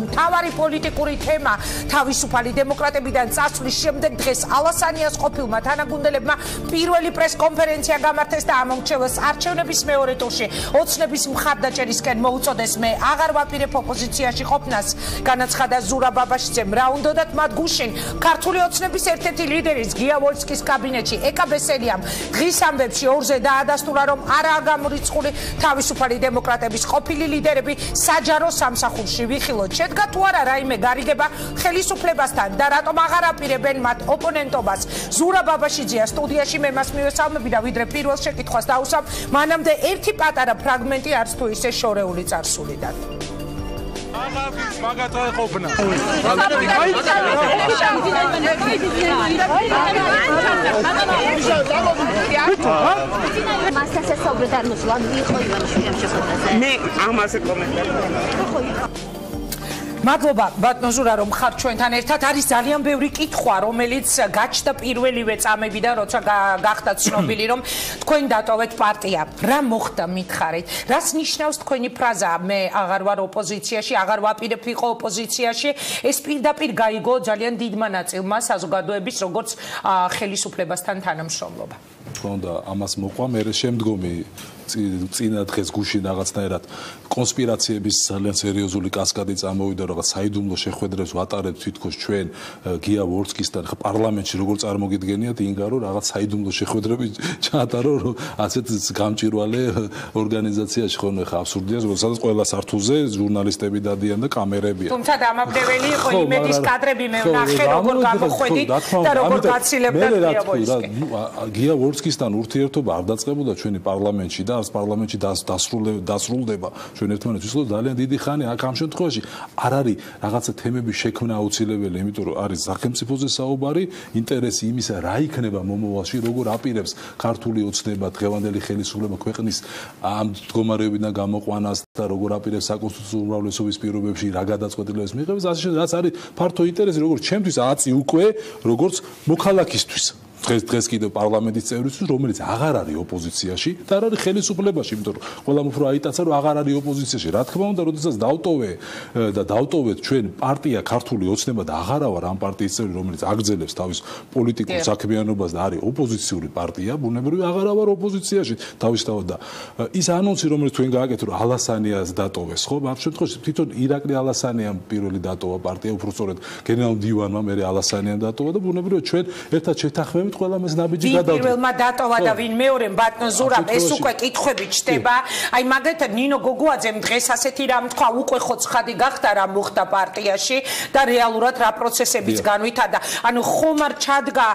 მთავარი პოლიტიკური თემა თავისუფალი დემოკრატებიდან წასვლის შემდეგ დღეს ალასანიას ყოფილმა თანაგუნდელებმა პირველი პრესკონფერენცია გამართეს და ამომრჩევლს არჩევნების მეორე ტურში ოცნების მხარდაჭერისკენ მოუწოდეს. მე აღარ ვაპირებ ოპოზიციაში ყოფნას, განაცხადა ზურაბ ბაბაშიძემ. რა უნდათ მათ გუშინ ქართული ოცნების ერთ-ერთი ლიდერის გია ვოლსკის კაბინეტში ეკა ბესელიამ დღის ამბებში ორზე დაადასტურა, რომ არაა გამორიცხული თავისუფალი დემოკრატების ყოფილი ლიდერები საჯარო სამსახურში. ვიხილოთ, შედგა თუ არა რაიმე გარიგება ხელისუფლებასთან და რატომ აღარ აპირებენ მათ ოპონენტობას. ზურაბ ბაბაშიძეა სტუდიაში, მე მას მივესალმები და ვიდრე პირველ შეკითხვას დავუსვამ, მანამდე ერთი პატარა ფრაგმენტი არც თუ ისე შორეული წარსულიდან. მაგათ ყოფნა. მასასაც საუბრად მოსვლა იყო ივანიშვილი ამ შეხვედრაზე. მე ამაზე კომენტარი. მადლობა ბატონო ზურა, რომ ხართ ჩვენთან ერთად. არის ძალიან ბევრი კითხვა, რომელიც გაჩნდა პირველივე წამებიდან, როცა გახდა ცნობილი, რომ თქვენ დატოვეთ პარტია. რა მოხდა მითხარით? რას ნიშნავს თქვენი ფრაზა? მე აღარ ვარ ოპოზიციაში, აღარ ვაპირებ ვიყო ოპოზიციაში. ეს პირდაპირ გაიგო ძალიან დიდმა ნაწილმა საზოგადოების, როგორც ხელისუფლებასთან თანამშრომლობა. თქო და ამას მოყვა მე შემდგომი წინა დღეს გუშინ რაღაცნაირად კონსპირაციების ძალიან სერიოზული კასკადი წამოვიდა, რაღაც საიდუმლო შეხვედრებს ვატარებთ თითქოს ჩვენ გია ვორსკისთან პარლამენტში, როგორ წარმოგიდგენიათ ინგარო რაღაც საიდუმლო შეხვედრები ჩაატარო, რომ ასეთ გამჭირვალე ორგანიზაციაში ხოლმე ხა აბსურდია, როდესაც ყველა სართულზე ჟურნალისტები დადიან და კამერებია. თუმცა დამაბნეველი იყო იმედის კადრები, მე ვნახე როგორ გამოხვედით და როგორ გაცილებდა გია ვორსკი. გია ვორსკისთან ურთიერთობა არ დაწყებულა ჩვენი პარლამენტში და არც პარლამენტში დასრულდება ჩვენ ერთმანეთს ვისაუბრებთ ძალიან დიდი ხანი. აქ ამ შემთხვევაში არ არის რაღაცა თემების შექმნა აუცილებელი, იმიტომ რომ არის სახელმწიფოზე საუბარი, ინტერესი იმისა რა იქნება მომავალში, როგორ აპირებს ქართული ოცნება დღევანდელი ხელისუფლება ქვეყნის ამ მდგომარეობიდან გამოყვანას და როგორ აპირებს საკონსტიტუციო უმრავლესობის პირობებში რა გადაწყვეტილებებს მიიღებს, რაც არის ფართო ინტერესი როგორც ჩემთვის აწი უკვე როგორც მოქალაქისთვის. დღეს კიდევ პარლამენტის წევრისთვის, რომელიც აღარ არის ოპოზიციაში და არ არის ხელისუფლებაში, იმიტომ რომ ყველამ უფრო აიტაცა, რომ აღარ არის ოპოზიციაში. რა თქმა უნდა, როდესაც დავტოვეთ ჩვენ პარტია ქართული ოცნება და აღარა ვარ ამ პარტიის წევრი, რომელიც აგრძელებს თავის პოლიტიკურ საქმიანობას და არის ოპოზიციური პარტია, ბუნებრივია აღარა ვარ ოპოზიციაში თავისთავად და ის ანონსი, რომელიც თქვენ გააკეთეთ, რომ ალასანიას დატოვეს, ხო? ამ შემთხვევაში თვითონ ირაკლი ალასანიამ პირველი დატოვა პარტია, უფრო სწორედ გენერალ მდივანმა მერე ალასანიამ დატოვა და ბუნებრივია ჩვენ ერთად შეთანხმებით ყველა მეს ნაბიჯი გადავდა. პირველმა დატოვა და ვინ მეორემ ბატონ ზურაბ, ეს უკვე კითხვები ჩდება. აი მაგალითად ნინო გოგუაძემ დღეს ასეთი რამ თქვა, უკვე ხო ცხადი გახდა რა მოხდა პარტიაში და რეალურად რა პროცესებიც განვითარდა. ანუ ხომ არ ჩადგა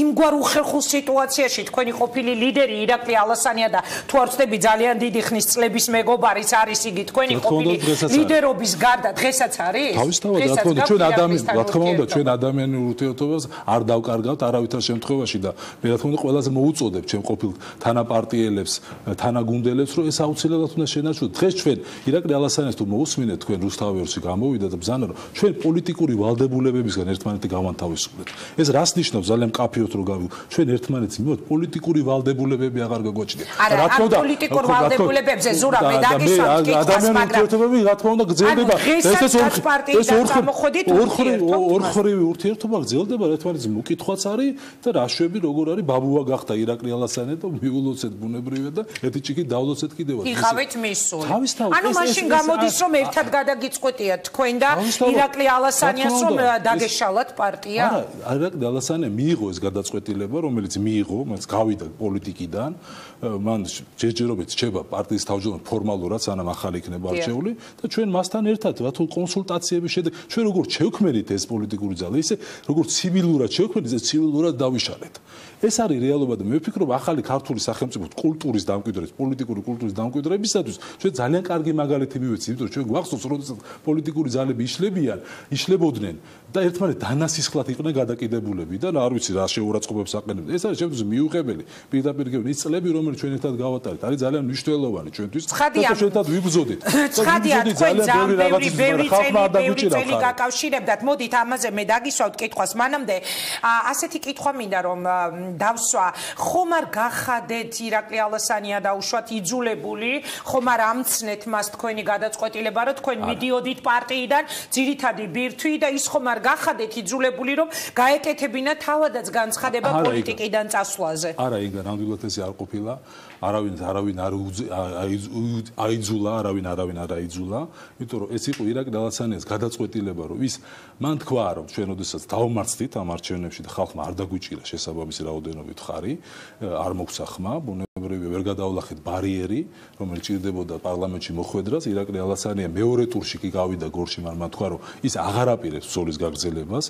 იმგვარ უხერხულ სიტუაციაში თქვენი ყოფილი ლიდერი ირაკლი ალასანია და თუ არ ვცდები ძალიან დიდი ხნის წლების მეგობარიც არის იგი თქვენი ყოფილი ლიდერობის გარდა დღესაც არის? თავისთავად რა თქმა უნდა ჩვენ ადამიანს, რა თქმა უნდა ჩვენ ადამიანურ ურთიერთობას არ დავკარგავთ არავითარ შემთხვევაში და მე რა თქმა უნდა ყველაზე მოუწოდებ ჩემ ყოფილ თანაპარტიელებს, თანაგუნდელებს, რომ ეს აუცილებლად უნდა შენარჩუნოთ. დღეს ჩვენ ირაკლი ალასანიას თუ მოусმინეთ თქვენ რუსთავიორში გამოვიდა და ბზანა რომ ჩვენ პოლიტიკური ვალდებულებებისგან ერთმანეთი გავანთავისუფლეთ. ეს რას ნიშნავს ძალიან მკაფიოდ რომ გავიგო. ჩვენ ერთმანეთს მივიღოთ პოლიტიკური ვალდებულებები აღარ გაგვაჩნია. რა თქმა უნდა პოლიტიკურ ვალდებულებებზე ზურა მე დაგისვამთ კითხვას, მაგრამ ურთიერთობები რა თქმა უნდა გრძელდება. ეს ორხრივი ურთიერთობა გრძელდება ერთმანეთს მოკითხვაც არის და რაშვები როგორ არის ბაბუა გახდა ირაკლი ალასანია და მიულოცეთ ბუნებრივია და ერთი ჭიქით დავლოცეთ კიდევაც. იყავით მისული. ანუ მაშინ გამოდის რომ ერთად გადაგიწყვეტია თქვენ და ირაკლი ალასანიას რომ დაგეშალათ პარტია? არა, ირაკლი ალასანია მიიღო ეს გადაწყვეტილება, რომელიც მიიღო, მას გავიდა პოლიტიკიდან, მან ჯერჯერობით რჩება პარტიის თავმჯდომარე ფორმალურად, სანამ ახალი იქნება არჩეული და ჩვენ მასთან ერთად რათულ კონსულტაციების შედეგად ჩვენ როგორ შევქმნით ეს პოლიტიკური ძალა, ისე როგორ ცივილურად შევქმნით, ეს ცივილურად დავიშალეთ. ეს არის რეალობა და მე ვფიქრობ ახალი ქართული სახელმწიფო კულტურის დამკვიდრების, პოლიტიკური კულტურის დამკვიდრებისათვის ჩვენ ძალიან კარგი მაგალითი მივეცით, იმიტომ რომ ჩვენ გვახსოვს, როდესაც პოლიტიკური ძალები იშლებოდნენ და ერთმანეთ დანასისხლად იყვნენ გადაკიდებულები და არ ვიცი რა შეურაცხყოფებს აყენებდნენ. ეს არის შემთხვევაში მიუღებელი. პირდაპირ ის წლები, რომელიც ჩვენ ერთად გავატარეთ, არის ძალიან მნიშვნელოვანი ჩვენთვის. და ერთად ვიბრძოდით. ცხადია, თქვენ ძალიან ბევრი წელი გაკავშირებდათ. მოდით ამაზე მე დაგისვავთ კითხვას. მანამდე ასეთი კითხვა მინდა რომ დავსვა ხომ არ გახადეთ ირაკლი ალასანია დაუშვათ იძულებული ხომ არ ამცნეთ მას თქვენი გადაწყვეტილება რომ თქვენ მიდიოდით პარტიიდან ძირითადი ბირთვი და ის ხომ არ გახადეთ იძულებული რომ გაეკეთებინა თავადაც განცხადება პოლიტიკიდან წასვლაზე არა იგა ნამდვილად ესე არ ყოფილა არავინ არ აიძულა არავინ არ აიძულა იმიტომ რომ ეს იყო ირაკლი ალასანიას გადაწყვეტილება რომ ის მან თქვა რომ ჩვენ ოდესაც დავმარცხდით ამ არჩევნებში და ხალხმა არ დაგვიჭირა შესაბამისი რაოდენობით ხარი არ მოგვცა ხმა ბუნებრივია ვერ გადავლახეთ ბარიერი რომელიც ჭირდებოდა პარლამენტში მოხვედრას ირაკლი ალასანია მეორე ტურში კი გავიდა გორში მან თქვა რომ ის აღარ აპირებს ბრძოლის გაგრძელებას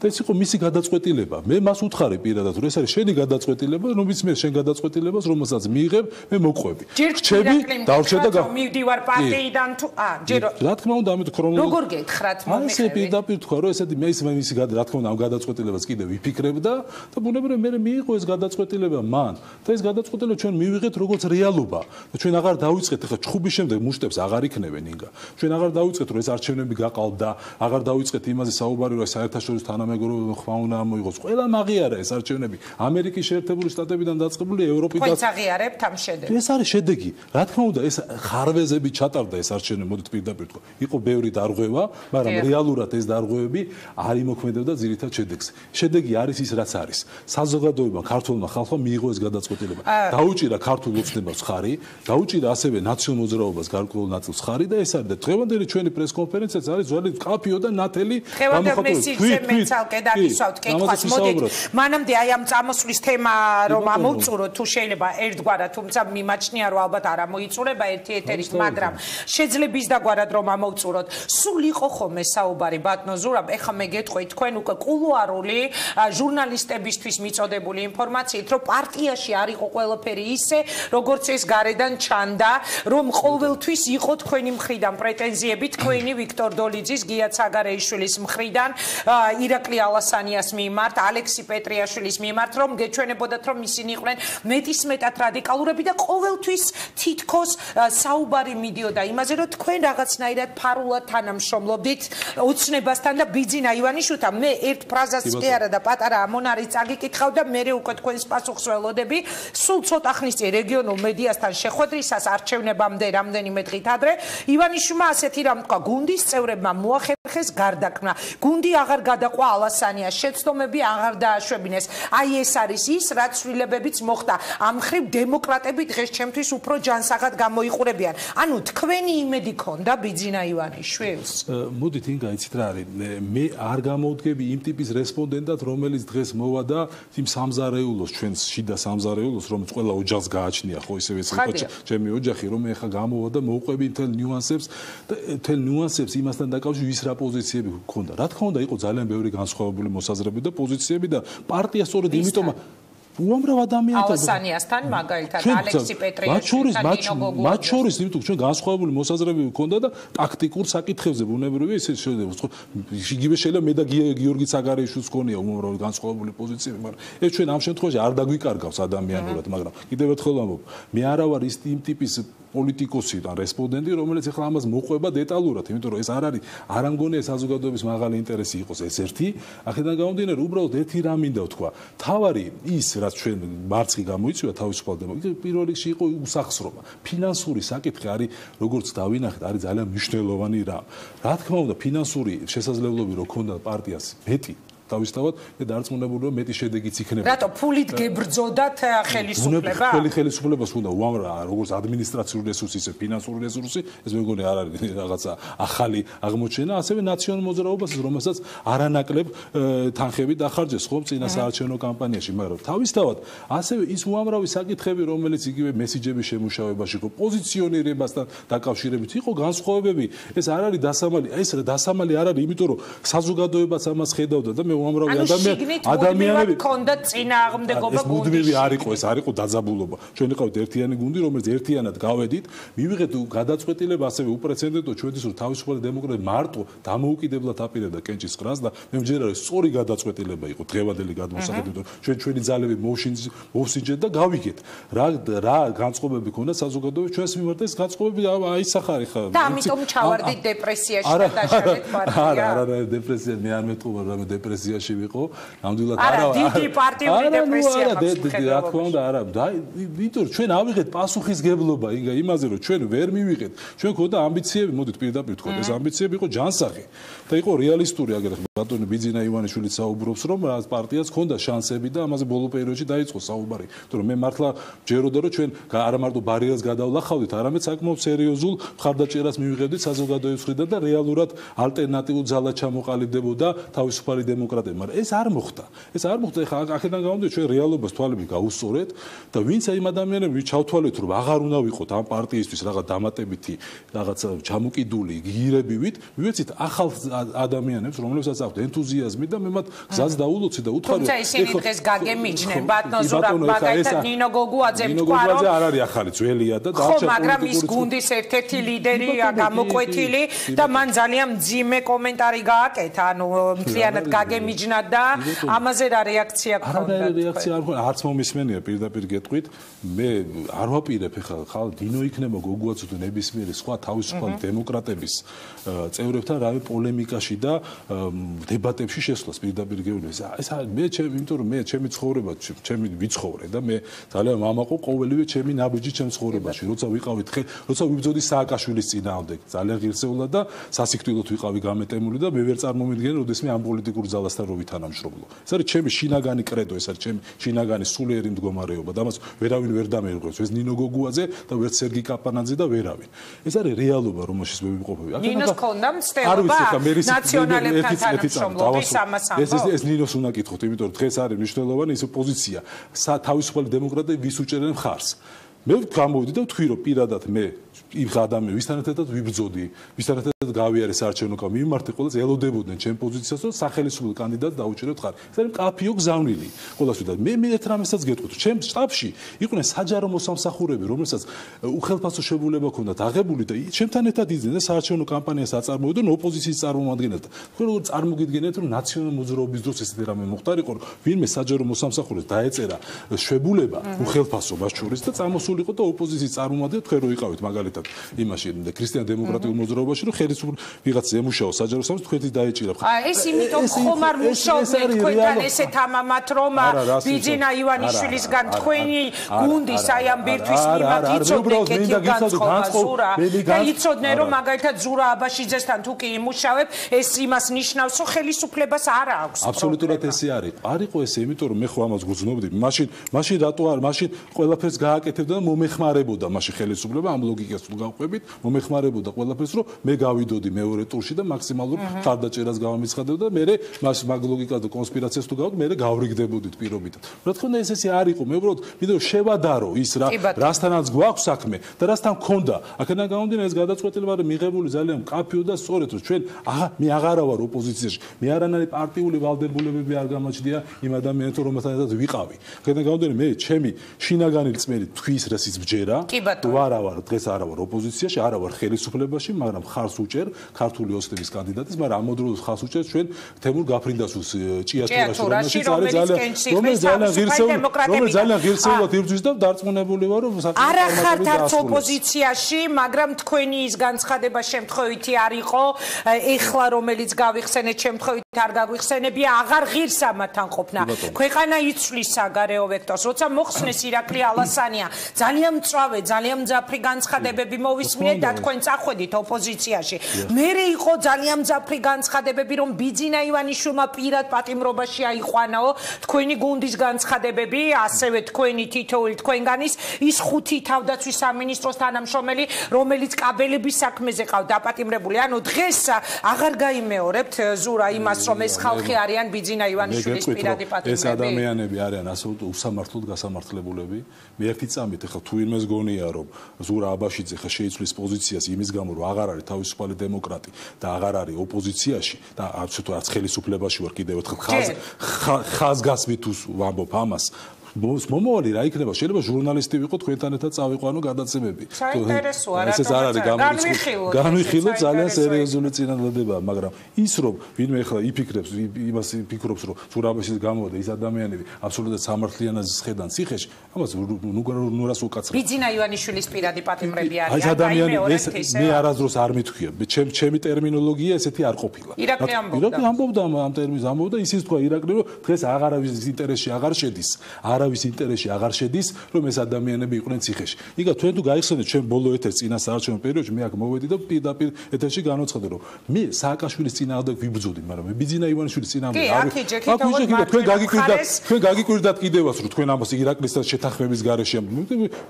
და ეს იყო მისი გადაწყვეტილება მე მას უთხარი პირადად რომ ეს არის შენი გადაწყვეტილება რომ ის მე შენ გადაწყვეტილებას რომელსაც მიიღებ მე მოყვები რჩები დავრჩე და მივდივარ პარტიიდან თუ ჯერ რა თქმა უნდა ამით ქრონოლოგია როგორ გეთხრათ მომიხე პირდაპირ თქვა რომ ესეთი მე მისი რა თქმა უნდა ამ გადაწყვეტილებას კიდე ვიფიქრებდა და ბუნებრივია მე მიიღო ეს გადაწყვეტილება მან და ეს გადაწყვეტილება ჩვენ მივიღეთ როგორც რეალობა და ჩვენ აღარ დავიწყეთ ახლა ჩხუბის შემდეგ მუშტებს აღარ იქნებენ ინგა ჩვენ აღარ დავიწყეთ რომ ეს არჩევნები გაყალთ და აღარ დავიწყეთ იმაზე საუბარი რომ საერთაშორისო თანამეგობრობა ხმა უნდა მოიღოს ყველა აღიარა ეს არჩევნები ამერიკის შეერთებული შტატებიდან დაწყებული ევროპიდან თქვენც აღიარებთ ამ შედეგს ეს არის შედეგი რა თქმა უნდა ეს ხარვეზები ჩატარდა ეს არჩევნები მოდით პირდაპირ თქვა იყო ბევრი დარღვევა მაგრამ რეალურად ეს დარღვევები არ იმოქმედებდა ძირითად შედეგს შედეგი არის ის რაც არის საზოგადოებამ ქართულმა ხალხმა მიიღო ეს გადაწყვეტილება დაუჭირა ქართულ ოცნებას ხარი დაუჭირა ასევე ნაციონალურ მოძრაობას გარკვეულ ნაწილს ხარი და ეს არის და დღევანდელი ჩვენი პრესკონფერენციაც არის ძველი კაფიო და ნათელი მანამდე აი ამ წამოსვლის თემა რომ ამოვწუროთ თუ შეიძლება ერთგვარად თუმცა მიმაჩნია რომ ალბათ არ ამოიწურება ერთი ეთერით მაგრამ შეიძლება ის დაგვარად რომ ამოვწუროთ სულ იყო ხოლმე საუბარი ბატონო ზურაბ ეხლა მე გეტყვით თქვენ უკვე კულუარული ჟურნალისტებისთვის მიწოდებული ინფორმაციით რომ პარტიაში არ იყო ყველაფერი ისე როგორც ეს გარედან ჩანდა რომ ყოველთვის იყო თქვენი მხრიდან პრეტენზიები თქვენი ვიქტორ დოლიძის გია ცაგარეიშვილის მხრიდან ირაკლი ალასანიას მიმართ ალექსი პეტრიაშვილის მიმართ რომ გეჩვენებოდათ რომ ისინი იყვნენ მეტისმეტად რადიკალურები და ყოველთვის თითქოს საუბარი მიდიოდა იმაზე რომ თქვენ რაღაცნაირად ფარულად თანამშრომლობდით ოცნებასთან და ბიძინა ივანიშვილთან მე ერთ ფრაზას კი არა და პატარა ამონარი წაგიკითხავ და მე უკვე თქვენს პასუხს ველოდები სულ ცოტა ხნის წინ რეგიონულ მედიასთან შეხვედრისას არჩევნებამდე რამდენიმე დღით ადრე ივანიშვილმა ასეთი რამ თქვა გუნდის წევრებმა მოახერხეს გარდაქმნა გუნდი აღარ გადაყვა ალასანიას შეცდომები აღარ დააშვებინეს აი ეს არის ის რაც ცვლილებებიც მოხდა ამ ხრივ დემოკრატები დღეს ჩემთვის უფრო ჯანსაღად გამოიყურებიან ანუ თქვენი იმედი ქონდა ბიძინა ივანიშვილს მოდით ინგა იცით რა არის მე არ გამოვდგები იმ ტიპის რესპონდენტად რომელიც დღეს მოვა და იმ სამზარეულოს ჩვენს შიდა სამზარეულოს რომელიც ყველა ოჯახს გააჩნია ხო ისევე ჩემი ოჯახი რომ ეხა გამოვა და მოუყვები მთელ ნიუანსებს იმასთან დაკავშირებით ვის რა პოზიციები ჰქონდა რა თქმა უნდა იყო ძალიან ბევრი განსხვავებული მოსაზრებები და პოზიციები და პარტია სწორედ იმიტომ უამრავ ადამიანთან ალასანიასთან მაგალითად ალექსი პეტრიაშვილთან მათ შორის იმიტომ ჩვენ განსხვავებული მოსაზრებები ჰქონდა და ტაქტიკურ საკითხებზე ბუნებრივია ისე იგივე შეიძლება მე და გიორგი ცაგარეიშვილს ჰქონია უამრავი განსხვავებული პოზიციები მაგრამ ეს ჩვენ ამ შემთხვევაში არ დაგვიკარგავს ადამიანურად მაგრამ კიდევ ერთხელ ვამბობ მე არა ვარ ის იმ ტიპის პოლიტიკოსი და რესპონდენტი რომელიც ახლა ამას მოყვება დეტალურად იმიტომ რომ ეს არ არის არ ამგონია საზოგადოების მაღალი ინტერესი იყოს ეს ერთი აქედან გამომდინარე უბრალოდ ერთი რამ მინდა ვთქვა თავარი ის რაც ჩვენ მარცხი გამოიწვია თავისუფალ დემოკრატიას პირველ რიგში იყო უსახსრობა ფინანსური საკითხი არის როგორც დავინახეთ არის ძალიან მნიშვნელოვანი რამ რა თქმა უნდა ფინანსური შესაძლებლობები რო ქონდა პარტიას მეტი თავისთავად და დარწმუნებულია მეტი შედეგიც იქნება. რატო ფულით გებრძოდათ ხელისუფლება? ხელისუფლებას უნდა უამრავ როგორც ადმინისტრაციული რესურსი, ისე ფინანსური რესურსი, ეს მეგონი არ არის რაღაცა ახალი აღმოჩენა, ასევე ნაციონალურ მოძრაობას, რომელსაც არანაკლებ თანხები დახარჯეს ხომ წინა საარჩევნო კამპანიაში, მაგრამ თავისთავად ასევე ის უამრავი საკითხები, რომელიც იგივე მესიჯების შემუშავებაში იყო, პოზიციონირებასთან დაკავშირებით იყო განსხვავებები, ეს არ არის დასამალი, ეს დასამალი არ არის, იმიტომ რომ საზოგადოებაც ამას ხედავდა და მე უამრავი ადამიანები ქონდა წინააღმდეგობა გუნდში. მუდმივი არ იყო, ეს არ იყო დაძაბულობა. ჩვენ იყავით ერთიანი გუნდი, რომელიც ერთიანად გავედით, მივიღეთ გადაწყვეტილება ასევე უპრეცედენტო ჩვენთვის რომ თავისუფალი დემოკრატია მარტო დამოუკიდებლად აპირებდა კენჭის ყრას და მე მჯერა რომ სწორი გადაწყვეტილება იყო დღევანდელი გადმოსახედით, რომ ჩვენი ძალები მოვსინჯეთ და გავიგეთ. რა განწყობები ქონდა საზოგადოების ჩვენს მიმართ ეს განწყობები აისახარი ხა. და ამიტომ ჩავარდით დეპრესიაში და დაშალეთ პარტია. არა, დეპრესია მე არ მეტყობა, რა დეპრესია ოპოზიციაში ვიყო, ნამდვილად არა დიდი პარტიული რეპრესია რა თქმა უნდა არა, იმიტომ რომ ჩვენ ავიღეთ პასუხისგებლობა იმაზე რომ ჩვენ ვერ მივიღეთ, ჩვენ ქონდა ამბიციები, მოდით პირდაპირ თქვა, ეს ამბიციები იყო ჯანსაღი და იყო რეალისტური, აგერ ბატონი ბიძინა ივანიშვილი საუბრობს რომ რა პარტიას ქონდა შანსები და ამაზე ბოლო პერიოდში დაიწყო საუბარი, იმიტომ რომ მე მართლა ჯეროდა რომ ჩვენ არა მარტო ბარიერას გადავლახავდით, არამედ საკმაოდ სერიოზულ მხარდაჭერას მივიღებდით საზოგადოების მხრიდან და რეალურად ალტერნატიულ ძალად ჩამოყალიბდებოდა თავისუფალი დემოკრატია, მაგრამ ეს არ მოხდა. ეს არ მოხდა, ეხლა აქედან გამომდინარე ჩვენ რეალობას თვალები გავუსწორეთ და ვინც აი ადამიანები ჩავთვალეთ რომ აღარ უნდა ვიყოთ ამ პარტიისთვის რაღაც დამატებითი რაღაც ჩამოკიდული გირებივით, მივეცით ახალ ადამიანებს, რომლებსაც აქვთ ენთუზიაზმი და მე მათ გზას დაულოცი და უთხარი თუმცა ისინი დღეს გაგემიჯნენ ბატონ ზურაბ მაგალითად ნინო გოგუაძემ თქვა რომ არ არის ახალი ძველია და დარჩა მაგრამ ის გუნდის ერთ-ერთი ლიდერია გამოკვეთილი და მან ძალიან მძიმე კომენტარი გააკეთა, ანუ მთლიანად გაგემიჯნა და ამაზე რა რეაქცია გქონდა? რეაქცია არ მქონდა, არც მომისმენია პირდაპირ გეტყვით. მე არ ვაპირებ ხალ დინო იქნება გოგუაძე თუ ნებისმიერი სხვა თავისუფალი დემოკრატების წევრებთან რავი პოლემიკაში და დებატებში შესვლას პირდაპირ გეუბნები. ეს მე იმიტომ რომ მე ჩემი ცხოვრება, ჩემი ვიცხოვრე და მე ძალიან მამაყო ყოველივე ჩემი ნაბიჯი ჩემ ცხოვრებაში, როცა ვიყავით როცა ვიბრძოდი სააკაშვილის წინააღმდეგ, ძალიან ღირსეულად და სასიკვდილოდ ვიყავი გამეტემული და მე ვერ წარმომიდგენე, როდესაც მე ამ პოლიტიკურ ძალასთან რო ვითანამშრომლო. ეს არის ჩემი შინაგანი კრედო, ეს არის ჩემი შინაგანი სულიერი მდგომარეობა და მას ვერავინ ვერ დამეიღებს. ეს ნინო გოგუაძე და ვერც სერგი კაპანაძე და ვერავინ. ეს არის რეალობა, რომელშიც მე ვიმყოფები. ნინოს ქონდა მცდელობა ნაციონალებთან თანამშრომლობის ამას ამბობ. ეს ნინოს უნდა კითხოთ, იმიტომ რომ დღეს არის მნიშვნელოვანი ის პოზიცია. თავისუფალი დემოკრატები ვის უჭერენ მხარს. მე გამოვიდი და ვთქვი რომ პირადად მე იმ ადამიანს ვისთან ერთად ვიბრძოდი, ვისთან ერთად გავიარე საარჩევნო კამპანია, მიმართე ყველას ელოდებოდნენ ჩემ პოზიციას, რომ სახელმწიფო კანდიდატს დაუჭირებთ ხარ. ეს არის კაფიო გზავნილი. ყველასთვის და მე ერთ რამესაც გეტყვით, ჩემ შტაბში იყვნენ საჯარო მოსამსახურეები, რომელსაც უხელფასო შებულება ჰქონდათ აღებული და ჩემთან ერთად იძდნენ და საარჩევნო კამპანიას აწარმოებდნენ ოპოზიციის წარმომადგენლად. თქვენ როგორ წარმოგიდგენიათ, რომ ნაციონალურ მოძრაობის დროს ესეთი რამე მოხდარიყო, რომ ვინმე საჯარო მოსამსახურეს დაეწერა შებულება უხელფასო მას შორის და წამოსულიყო და ოპოზიციის წარმომადგენლად თქვენ რო იყავით მაგალითად იმაში ქრისტიან-დემოკრატიულ მოძრაობაში რომ ხელისუფლება ვიღაც ემუშაო საჯარო სამს თქვენი დაეჭირა. ეს იმიტომ ხომ არ მუშაობენ თქვენთან ესეთ ამამად რომ ბიძინა ივანიშვილისგან თქვენი გუნდის აი ამ ბირთვის მიმართ იცოდნენ კეთილ განწყობას და იცოდნენ რომ მაგალითად ზურა აბაშიძესთან თუ კი იმუშავებ ეს იმას ნიშნავს რომ ხელისუფლებას არ აქვს. აბსოლუტურად ესე არის. არისო ესე, იმიტომ რომ მე ხო ამას გძნობდი. მაშინ რატო არ მაშინ ყველაფერს გააკეთებდა და მომეხმარებოდა მაშინ ხელისუფლება ამ ლოგიკას გავყვებით, მომეხმარებოდა ყველაფერს, რომ მე გავიდოდი მეორე ტურში და მაქსიმალურ ხარდაჭერას გავამიცხადებდა და მე მას მაგ ლოგიკას და კონსპირაციას თუ გავდ, მე გავრიგდებოდით პირობითად. რა თქმა უნდა ეს ესე არ იყო, მე უბრალოდ ვიდეო შევადარო ის რასთანაც გვაქვს საქმე და რასთან მქონდა. აქედან გამომდინარე ეს გადაწყვეტილება არის მიღებული ძალიან მკაფიო და სწორედ, რომ ჩვენ მე აღარა ვარ ოპოზიციაში. მე არანაირი პარტიული ვალდებულებები არ გამაჩნია იმ ადამიანთან, რომელთან ერთად ვიყავი. აქედან გამომდინარე მე ჩემი შინაგანი რწმენით თქვის რასიც ბჯერა. ვარ დღეს არა ვარ ოპოზიციაში, არა ვარ ხელისუფლებაში, მაგრამ ხარს უჭერ ქართული ოსტების კანდიდატის, მაგრამ ამ მოდროულს ხარს უჭერ ჩვენ თემურ გაფრინდასუს ჭიათურაში, რომელიც ძალიან ღირსეულად იბრძვის და დარწმუნებული ვარ, რომ არა ხართ არც ოპოზიციაში, მაგრამ თქვენი ის განცხადება შემთხვევითი არ იყო, ეხლა რომელიც გავიხსენეთ შემთხვევით არ გაგვიხსენებია, აღარ ღირს ამათან ყოფნა. ქვეყანა იცვლის საგარეო ვექტორს, როცა მოხსნეს ირაკლი ალასანია, ძალიან მწვავე, ძალიან მძაფრი განცხადებები მოვისმინეთ და თქვენ წახვედით ოპოზიციაში. მერე იყო ძალიან მძაფრი განცხადებები, რომ ბიძინა ივანიშვილმა პირად პატიმრობაში აიყვანაო თქვენი გუნდის განცხადებები, ასევე თქვენი თითოეული თქვენგანის ის 5 თავდაცვის სამინისტროს თანამშრომელი, რომელიც კაბელების საქმეზე ყავდა დაპატიმრებული. ანუ დღეს აღარ გაიმეორებთ ზურა იმას, რომ ეს ხალხი არიან ბიძინა ივანიშვილის პირადი პატიმრები. ეს ადამიანები არიან ასეულტ უსამართლოდ გასამართლებულები. მე ერთი წამით ეხლა თუ ვინმეს გონია რომ ზურა აბაშიძე ხა შეიცვლის პოზიციას იმის გამო რომ აღარ არის თავისუფალი დემოკრატი და აღარ არის ოპოზიციაში და არც ხელისუფლებაში ვარ კიდევ ერთხელ ხაზგასმით ვამბობ ამას მომავალი რა იქნება? შეიძლება ჟურნალისტი ვიყო, თქვენთან ერთად წავიყვანო გადაცემები. საინტერესოა რა. ეს არ არის განვიხილოთ ძალიან სერიოზული წინადადებაა, მაგრამ ის რომ ვინმე ახლა იფიქრებს, იმას ფიქრობს, რომ ზურაბეშის გამოვიდა ის ადამიანები აბსოლუტურად სამართლიანად ხედან ციხეში, ამას ნუ რას უკაცრავ. ბიძინა ივანიშვილის პირადი პატიმრები არის. ეს ადამიანი მე არასდროს არ მithქვია. ჩემი ტერმინოლოგია ესეთი არ ყოფილა. ირაკლი ამბობდა ამ ტერმინს ამბობდა ისიც თქვა ირაკლი რომ დღეს არავის ინტერესში აღარ შედის. არავის ინტერესში აღარ შედის რომ ეს ადამიანები იყვნენ ციხეში. იგივე თქვენ თუ გაიხსენეთ ჩვენ ბოლო ეთერს წინასაარჩევნო პერიოდში მე აქ მოვედი და პირდაპირ ეთერში განვაცხადე რომ მე სააკაშვილის წინააღმდეგ ვიბრძოდი, მაგრამ მე ბიძინა ივანიშვილის წინააღმდეგ თქვენ გაგიკვირდათ კიდევაც რომ თქვენ ამას ირაკლისთან შეთანხმების გარეშე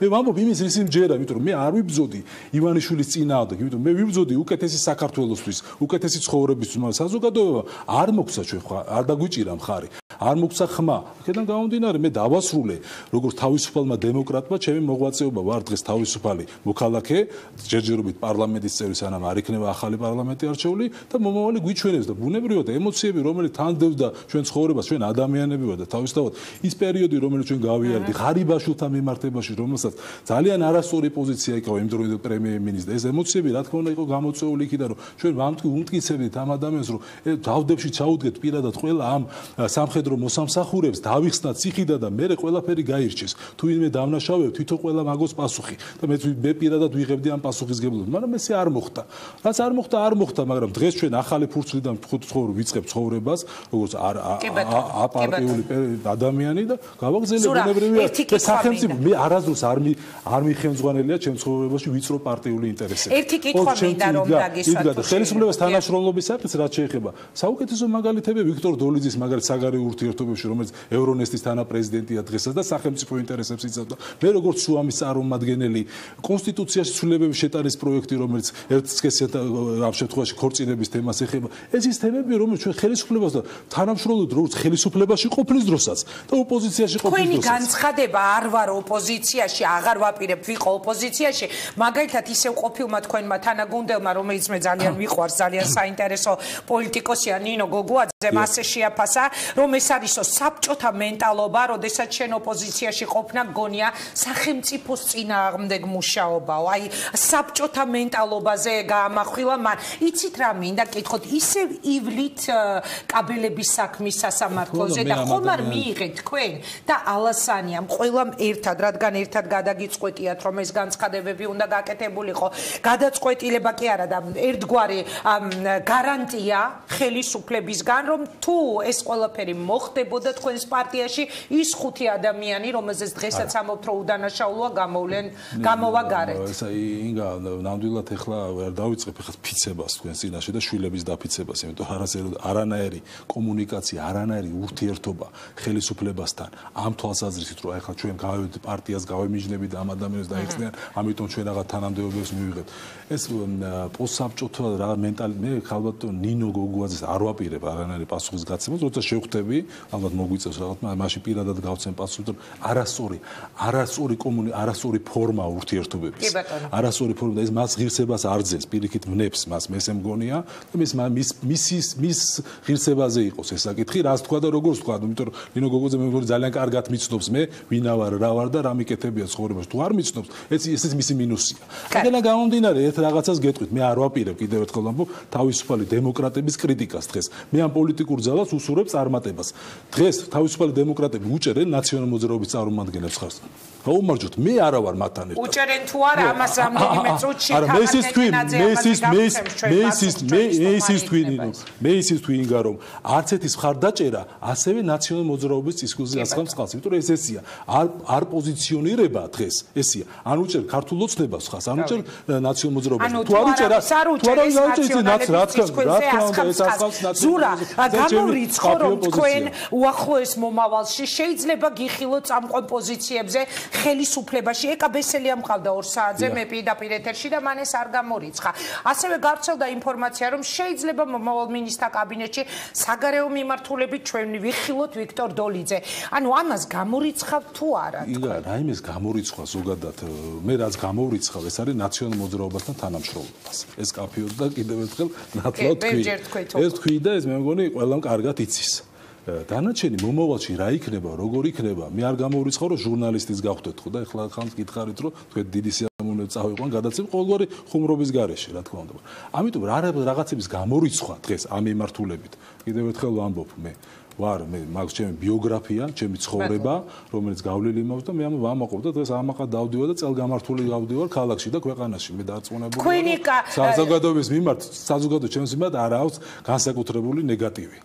მე ვამბობ იმის რის იმჯერა, იმიტომ რომ მე არ ვიბრძოდი ივანიშვილის წინააღმდეგ, იმიტომ მე ვიბრძოდი უკეთესი საქართველოსთვის, უკეთესი ცხოვრებისთვის, მაგრამ საზოგადოება არ მოგცა ჩვენ არ დაგვიჭირა მხარი, არ მოგცა ხმა. აქედან გამომდინარე მე დავასრულე როგორც თავისუფალმა დემოკრატმა ჩემი მოღვაწეობა ვარ დღეს თავისუფალი მოქალაქე, ჯერჯერობით პარლამენტის წევრი სანამ არ იქნება ახალი პარლამენტი არჩეული და მომავალი გვიჩვენებს და ბუნებრივად ემოციები რომელიც თანდევდა ჩვენ ცხოვრებას, ჩვენ ადამიანები ვარ და თავისთავად ის პერიოდი რომელიც ჩვენ გავიარდი ღარიბაშვილთა მიმართებაში, რომელსაც ძალიან არასწორი პოზიცია ეკავა იმდროინდელ პრემიერ-მინისტრს, ეს ემოციები რა თქმა უნდა იყო გამოწვეული იქიდან რომ ჩვენ ვამტკიცებდით ამ ადამიანს რომ დავდებში ჩაუდგეთ პირადად ყველა ამ სამხედრო მოსამსახურებს დავიხსნათ ციხიდან და მე ყველაფერი გაირჩეს. თუ ვინმე დავნაშავებ თვითონ ყველა მაგოს პასუხი და მე პირადად ვიღებდი ამ პასუხისგებლობას, მაგრამ ესე არ მოხდა. რაც არ მოხდა, მაგრამ დღეს ჩვენ ახალი ფურცლიდან ვიწყებ ცხოვრებას, როგორც აპარტიული ადამიანი და გავაგზავნე ბუნებრივია სახელმწიფო მე არასდროს არ მიხემძღვანელია ჩემ ცხოვრებაში ვიწრო პარტიული ინტერესები. ერთი კითხვა მინდა რომ დაგისვათ. ხელისუფლების თანაშრომლობის საკითხს რაც შეეხება. საუკეთესო მაგალითები ვიქტორ დოლიძის მაგალითად საგარეო ურთიერთობებში, რომელიც ევრონესტის თანაპრეზიდენტია დღესაც და სახელმწიფო ინტერესებს იცავდა. მე როგორც შუამის წარმომადგენელი კონსტიტუციაში ცვლილებების შეტანის პროექტი, რომელიც ერთსქესიათ ამ შემთხვევაში ქორწინების თემას ეხება. ეს ის თემები, რომელიც ჩვენ ხელისუფლებას და თანამშრომლობთ როგორც ხელისუფლებაში ყოფნის დროსაც და ოპოზიციაში ყოფნის დროსაც. თქვენი განცხადება არ ვარ ოპოზიციაში, აღარ ვაპირებ ვიყო ოპოზიციაში, მაგალითად ისევ ყოფილმა თქვენმა თანაგუნდელმა, რომელიც მე ძალიან მიყვარს, ძალიან საინტერესო პოლიტიკოსია ნინო გოგუაძე, მასე შეაფასა, რომ ეს არისო საბჭოთა მენტალობა, როდესაც შენ ოპოზიციაში ყოფნა გონია სახელმწიფოს წინააღმდეგ მუშაობაო. აი საბჭოთა მენტალობაზე გაამახვილა მან. იცით რა მინდა კითხოთ, ისევ ივლით კაბელების საქმის სასამართლოზე და ხომ არ მიიღეთ თქვენ და ალასანიამ ყველამ ერთად, რადგან ერთად გადაგიწყვეტიათ რომ ეს განცხადებები უნდა გაკეთებულიყო. გადაწყვეტილება კი არა და ერთგვარი გარანტია ხელისუფლებისგან რომ თუ ეს ყველაფერი მოხდებოდა თქვენს პარტიაში ის 5 ადამიანი რომელზეც დღესაც ამობთ რომ უდანაშაულოა გამოვა გარეთ. ეს ინგა ნამდვილად ეხლა ვერ დავიწყებ ეხლა ფიცებას თქვენ წინაშე და შვილების დაფიცებას, იმიტომ არანაირი კომუნიკაცია, არანაირი ურთიერთობა ხელისუფლებასთან ამ თვალსაზრისით რომ ეხლა ჩვენ გავევით პარტიას გავემიჯნებით ამ ადამიანებს დაიხსნიან, ამიტომ ჩვენ რაღაც თანამდებობებს მივიღებთ. ეს პოსტსაბჭოთა რა მენტალი მე ხალბატ ნინო გოგუაძეს არ ვაპირებ არანაირი პასუხის გაცემას, როცა შევხვდები, ალბათ მოგვიწევს რაღაც, მაშინ პირადად გავცემ პასუხს, რომ არასწორი ფორმა ურთიერთობების. არასწორი ფორმა და ეს მას ღირსებას არ ძენს, პირიქით ვნებს მას, მე ესე მგონია და მის ღირსებაზე იყოს ეს საკითხი, რას თქვა და როგორ თქვა, იმიტომ რომ ნინო გოგუაძე მე მგონი ძალიან კარგად მიცნობს მე ვინა ვარ, რა ვარ და რა მიკეთებია ცხოვრებაში. თუ არ მიცნობს, ეს მისი მინუსია. აქედან გამომდინარე ერთ რაღაცას გეტყვით, მე არ ვაპირებ კიდევ ერთხელ ამბობ თავისუფალი დემოკრატების კრიტიკას დღეს. მე ამ პოლიტიკურ ძალას უსურვებ წარმატებას. დღეს თავისუფალი დემოკრატები უჭერენ ნაციონალურ მოძრაობის წარმომადგენლებს ხარს. გაუმარჯოთ, მე არა ვარ მათთან ერთად. უჭერენ თუ არა ამას რამდენიმე წუთში მე ისის თქვი ინგა რომ არც ერთის მხარდაჭერა ასევე ნაციონალურ მოძრაობის წისქვილზე ასხამს ხალხს, იმიტომ რომ ეს ესია. არ პოზიციონირება დღეს ესია. ან უჭერ ქართულ ოცნებას ხალხს, ან უჭერ ნაციონალურ მოძრაობას. თუ არ უჭერა, ზურა, გამორიცხო რომ თქვენ უახლოეს მომავალში შეიძლება გიხილოთ წამყვან პოზიციებზე ხელისუფლებაში. ეკა ბესელია მყავდა 2 საათზე მე პირდაპირ ეთერში და მან ეს არ გამორიცხა. ასევე გავრცელდა ინფორმაცია რომ შეიძლება მომავალ მინისტრთა კაბინეტში საგარეო მიმართულებით ჩვენ ვიხილოთ ვიქტორ დოლიძე. ანუ ამას გამორიცხავ თუ არა? იგა, რაიმეს გამორიცხვა ზოგადად მე რაც გამორიცხავ ეს არის ნაციონალურ მოძრაობასთან თანამშრომლობას. ეს კაფეოდ და კიდევ ერთხელ ნათლად თქვი. ეს თქვი და ეს მე მგონი ყველამ კარგად იცის. დანარჩენი მომავალში რა იქნება, როგორ იქნება, მე არ გამოვიწყო რომ ჟურნალისტის გავხდეთ ხო და ეხლა ხანს გითხარით რომ თქვენ დიდი სიამოვნებით წავიყვან გადაცემა ყოველგვარი ხუმრობის გარეშე რა თქმა უნდა. ამიტომ რაღაცების გამორიცხვა დღეს ამ მიმართულებით კიდევ ერთხელ ვამბობ მე ვარ მე მაგ ჩემი ბიოგრაფია, ჩემი ცხოვრება, რომელიც გავლილი მაქვს და მე ამ ვამაყობ და დღეს ამაყა დავდივარ და წელგამართული გავდივარ ქალაქში და ქვეყანაში. მე დარწმუნებული ვარ. საზოგადოების მიმართ, საზოგადოების ჩემს მიმართ არ აქვს განსაკუთრებული ნეგატივი.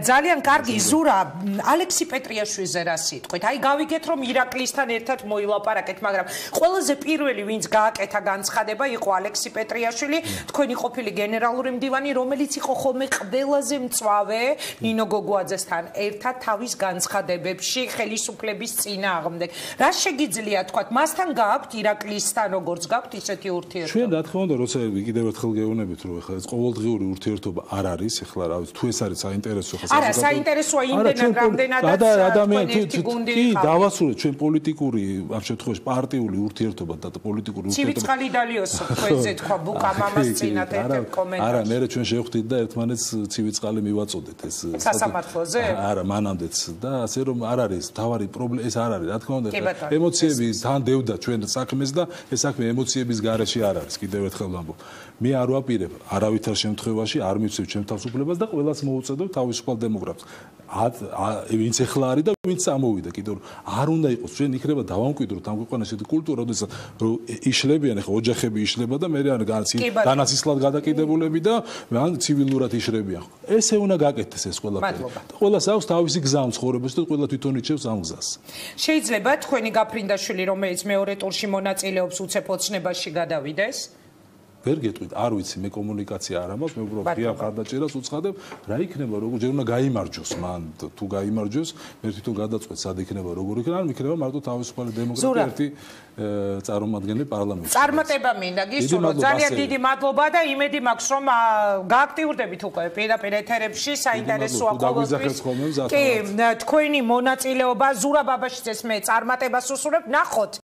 ძალიან კარგი ზურა, ალექსი პეტრიაშვილზე რა სიტყვით? აი გავიგეთ რომ ირაკლისთან ერთად მოილაპარაკეთ, მაგრამ ყველაზე პირველი ვინც გააკეთა განცხადება იყო ალექსი პეტრიაშვილი, თქვენი ყოფილი გენერალური მდივანი, რომელიც იყო ხოლმე ყველაზე მწვავე ნინო გოგუაძესთან ერთად თავის განცხადებებში ხელისუფლების წინააღმდეგ. რა შეგიძლია თქვა, მასთან გააქვთ ირაკლისთან როგორც გაქვთ ისეთი ურთიერთობა? ჩვენ რა თქმა უნდა, როცა კიდევ ერთხელ გეუბნებით, რომ ეხლა ეს ყოველდღიური ურთიერთობა არ არის, ეხლა რა ვიცი, თუ ეს არის საინტერესო ხა არა, საინტერესოა იმდენად რამდენადაც ადამიანი კი დავასრულეთ ჩვენ პოლიტიკური ამ შემთხვევაში პარტიული ურთიერთობა და პოლიტიკური ურთიერთობა. ცივიწყალი დალიოსო თქვენზე თქვა ბუკა მამას წინათ ერთ კომენტარში. არა, მე ჩვენ შევხვდით და ერთმანეთს ცივიწყალი მივაწოდეთ ეს სასამართლოზე? არა, მანამდეც და ასე რომ არ არის თავარი პრობლემა ეს არ არის, რა თქმა უნდა, ემოციები თან დევდა ჩვენ საქმეს და ეს საქმე ემოციების გარეშე არ არის, კიდევ ერთხელ ვამბობ. მე არ ვაპირებ არავითარ შემთხვევაში არ მივცევ ჩემ თავისუფლებას და ყველას მოუწოდებ თავისუფალ დემოკრატს. ვინც ეხლა არის და ვინც ამოვიდა, კიდევ არ უნდა იყოს ჩვენ იქნება დავამკვიდროთ ამ ქვეყანაში კულტურა, როდესაც იშლებიან ახლა ოჯახები იშლება და მე ან განაცისლად გადაკიდებულები და ან ცივილურად იშლებიან. ესე უნდა გაკეთდეს ეს ყველაფერი. ყველას აქვს თავისი გზა ცხოვრებაში და ყველა თვითონ იჩევს ამ გზას. შეიძლება თქვენი გაფრინდაშვილი, რომელიც მეორე ტურში მონაწილეობს უცებ ოცნებაში გადავიდეს? ვერ გეტყვით, არ ვიცი, მე კომუნიკაცია არ ამაქვს, მე უბრალოდ ღია ხარდაჭერას უცხადებ, რა იქნება, როგორ ჯერ უნდა გაიმარჯოს მან, თუ გაიმარჯოს, მე თვითონ გადაწყვეტ, სად იქნება, როგორ იქნება, ან იქნება მარტო თავისუფალი დემოკრატია ერთი წარმომადგენელი პარლამენტში. წარმატება მინდა გისურვო, ძალიან დიდი მადლობა და იმედი მაქვს, რომ გააქტიურდებით უკვე პირდაპირ ეთერებში, საინტერესოა ყოველთვის. კი, თქვენი მონაწილეობა ზურა ბაბაშიძეს მე წარმატებას უსურვებ, ნახოთ